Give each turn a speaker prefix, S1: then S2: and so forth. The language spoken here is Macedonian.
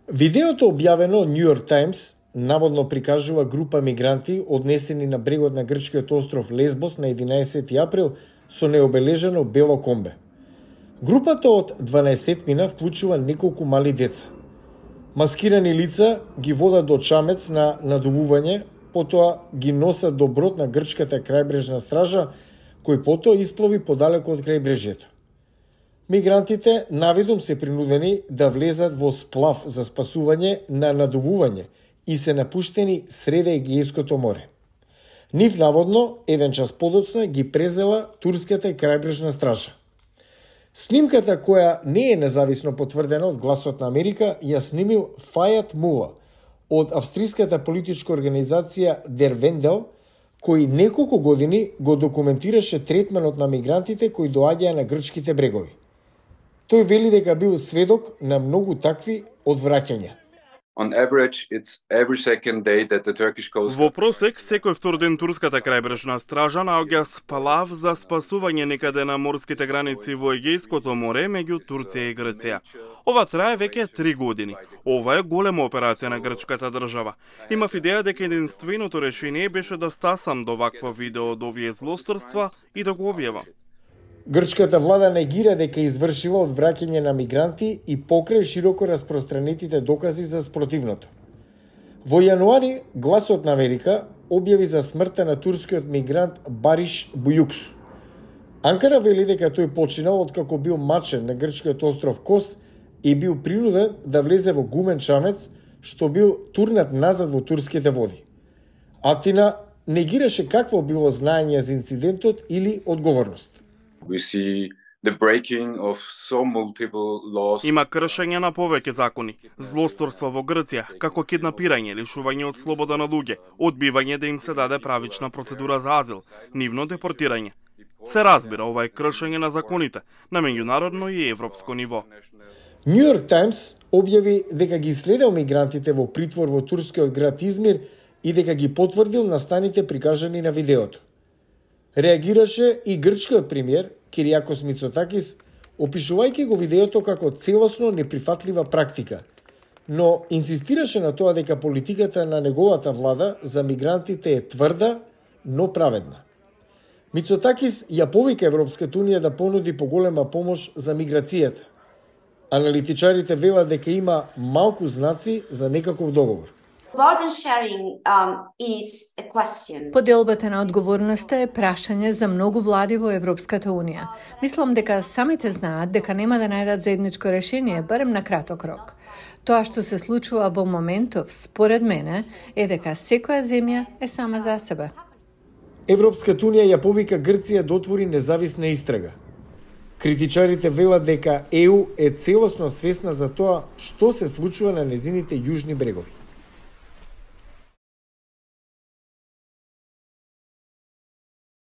S1: Видеото објавено од New York Times наводно прикажува група мигранти однесени на брегот на грчкиот остров Лесбос на 11 април со необележено бело комбе. Групата од 12 вклучува неколку мали деца. Маскирани лица ги водат до чамец на надувување, потоа ги носат до брод на грчката крајбрежна стража, кој потоа исплови подалеку од крајбрежјето. Мигрантите навидум се принудени да влезат во сплав за спасување на надувување и се напуштени среде Егејското море. Нив наводно, еден час подоцна, ги презела турската крајбрежна стража. Снимката, која не е независно потврдена од Гласот на Америка, ја снимил Фајат Мула од австриската политичка организација Der Wendel, кој неколку години го документираше третманот на мигрантите кои доаѓаа на грчките брегови. Тој вели дека бил сведок на многу такви одвраќања.
S2: Во просек, секој втор ден турската крајбрежна стража наоѓа сплав за спасување некаде на морските граници во Егејското море меѓу Турција и Грција. Ова трае веќе 3 години. Ова е голема операција на грчката држава. Имав идеја дека единственото решение беше да стасам до вакво видео од овие злосторства и да го објавам.
S1: Грчката влада негира дека извршила одвраќање на мигранти и покрај широко распространетите докази за спротивното. Во јануари, Гласот на Америка објави за смртта на турскиот мигрант Бариш Бујуксу. Анкара вели дека тој починал откако бил мачен на грчкиот остров Кос и бил принуден да влезе во гумен чамец, што бил турнат назад во турските води. Атина негираше какво било знаење за инцидентот или одговорност.
S2: Има кршење на повеќе закони, злосторства во Грција, како киднапирање, лишување од слобода на луѓе, одбивање да им се даде правична процедура за азил, нивно депортирање. Се разбира, ова е кршење на законите на меѓународно и европско ниво.
S1: New York Times објави дека ги следел мигрантите во притвор во турскиот град Измир и дека ги потврдил настаните прикажани на видеото. Реагираше и грчкиот премиер Кириакос Мицотакис, опишувајќи го видеото како целосно неприфатлива практика, но инсистираше на тоа дека политиката на неговата влада за мигрантите е тврда, но праведна. Мицотакис ја повика Европската унија да понуди поголема помош за миграцијата. Аналитичарите велат дека има малку знаци за некаков договор.
S3: Поделбата на одговорноста е прашање за многу влади во Европската унија. Мислам дека самите знаат дека нема да најдат заедничко решение, барем на краток рок. Тоа што се случува во моментов, според мене, е дека секоја земја е сама за себе.
S1: Европската унија ја повика Грција да отвори независна истрага. Критичарите велат дека ЕУ е целосно свесна за тоа што се случува на незините јужни брегови.